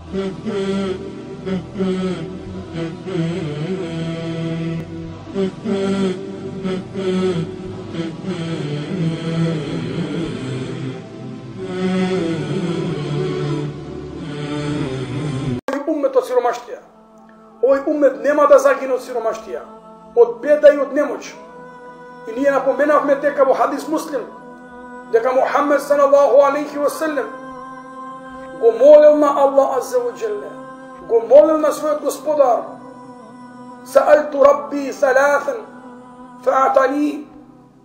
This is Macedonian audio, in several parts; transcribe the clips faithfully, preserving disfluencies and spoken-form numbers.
Уммет од сиромаштија. Овој уммет нема да загине од сиромаштија, од беда и од немоќ. И ние напоменавме дека во хадис Муслим, дека Мухаммед салаллаху алейхи ва селем го молел на Аллах азза ва джелле, го молел на својот господар: саалту рабби салатан фаатани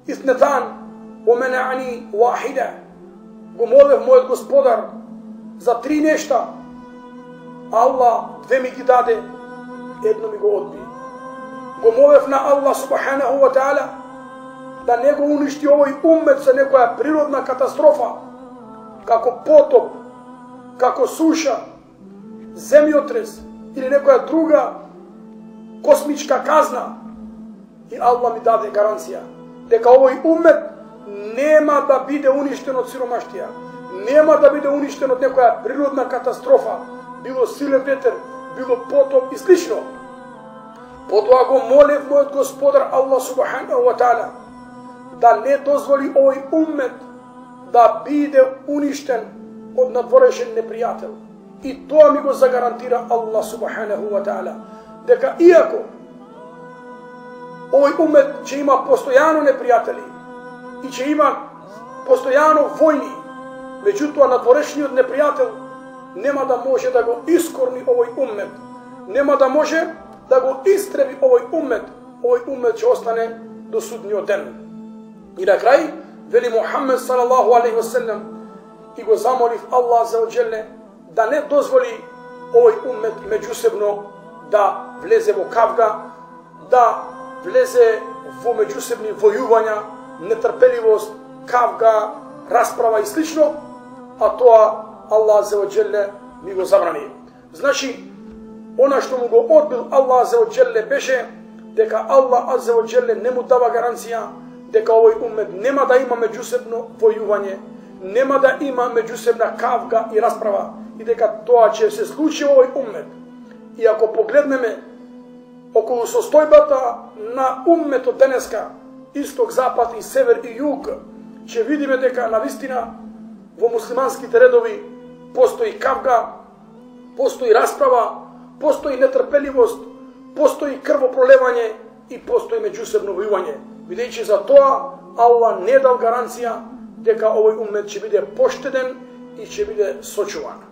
иснетан ва менани вахида. Го молев мојот господар за три нешта, Аллах две ми ги даде, едно ми го одби. Го молев на Аллах субханаху ва таала да не го уништи овој уммет со некоја природна катастрофа, како потоп, како суша, земјотрес или некоја друга космичка казна. И Аллах ми даде гаранција дека овој уммет нема да биде уништен од сиромаштија, нема да биде уништен од некоја природна катастрофа, било силен ветер, било потоп и слично. Потоа го молев мојот господар Аллах субханаху ва таала да не дозволи овој уммет да биде уништен од надворешен непријател. И тоа ми го загарантира Аллах субханаху ва таала, дека иако овој уммет ќе има постојано непријатели и ќе има постојано војни, меѓутоа надворешниот непријател нема да може да го искорни овој уммет, нема да може да го истреби овој уммет. Овој уммет ќе остане до судниот ден. И на крај вели Мухаммед салаллаху алейхи ва селем и го замолив Аллах азза ва джелле да не дозволи овој уммет меѓусебно да влезе во кавга, да влезе во меѓусебни војувања, нетрпеливост, кавга, расправа и слично, а тоа Аллах азза ва джелле ми го забрани. Значи, она што му го одбил Аллах азза ва джелле беше дека Аллах азза ва джелле не му дава гаранција дека овој уммет нема да има меѓусебно војување, нема да има меѓусебна кавга и расправа, и дека тоа ќе се случи овој уммет. И ако погледнеме околу состојбата на умметот денеска, исток, запад и север и југ, ќе видиме дека навистина во муслиманските редови постои кавга, постои расправа, постои нетрпеливост, постои крвопролевање и постои меѓусебно војување. Бидејќи за тоа Аллах не дал гаранција дека овој уммет ќе биде поштеден и ќе биде сочуван.